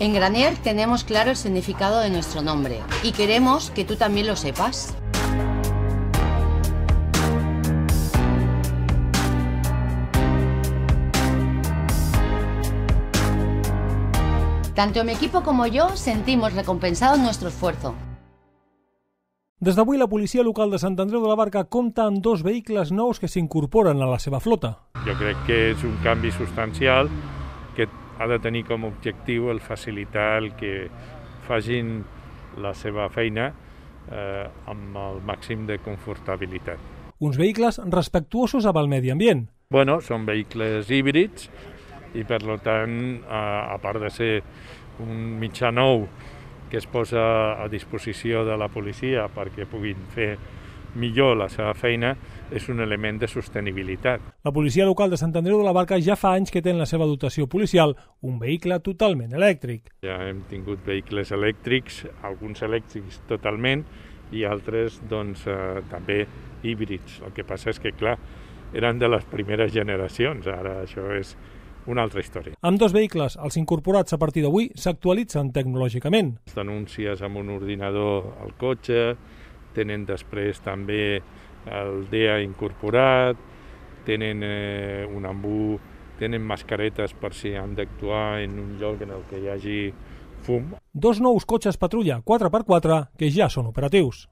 En Granier tenemos claro el significado de nuestro nombre y queremos que tú también lo sepas. Tanto mi equipo como yo sentimos recompensado nuestro esfuerzo. Des d'avui, la policia local de Sant Andreu de la Barca compta amb 2 vehicles nous que s'incorporen a la seva flota. Jo crec que és un canvi substancial que ha de tenir com a objectiu el facilitar el que facin la seva feina amb el màxim de confortabilitat. Uns vehicles respectuosos amb el medi ambient. Bueno, són vehicles híbrids i, per tant, a part de ser un mitjà nou que es posa a disposició de la policia perquè puguin fer millor la seva feina, és un element de sostenibilitat. La policia local de Sant Andreu de la Barca ja fa anys que té en la seva dotació policial un vehicle totalment elèctric. Ja hem tingut vehicles elèctrics, alguns elèctrics totalment i altres doncs, també híbrids. El que passa és que, clar, eren de les primeres generacions, ara això és una altra història. Amb 2 vehicles, els incorporats a partir d'avui s'actualitzen tecnològicament. Els denúncies amb un ordinador al cotxe, tenen després també el DEA incorporat, tenen un embú, tenen mascaretes per si han d'actuar en un lloc en el que hi hagi fum. 2 nous cotxes patrulla 4x4 que ja són operatius.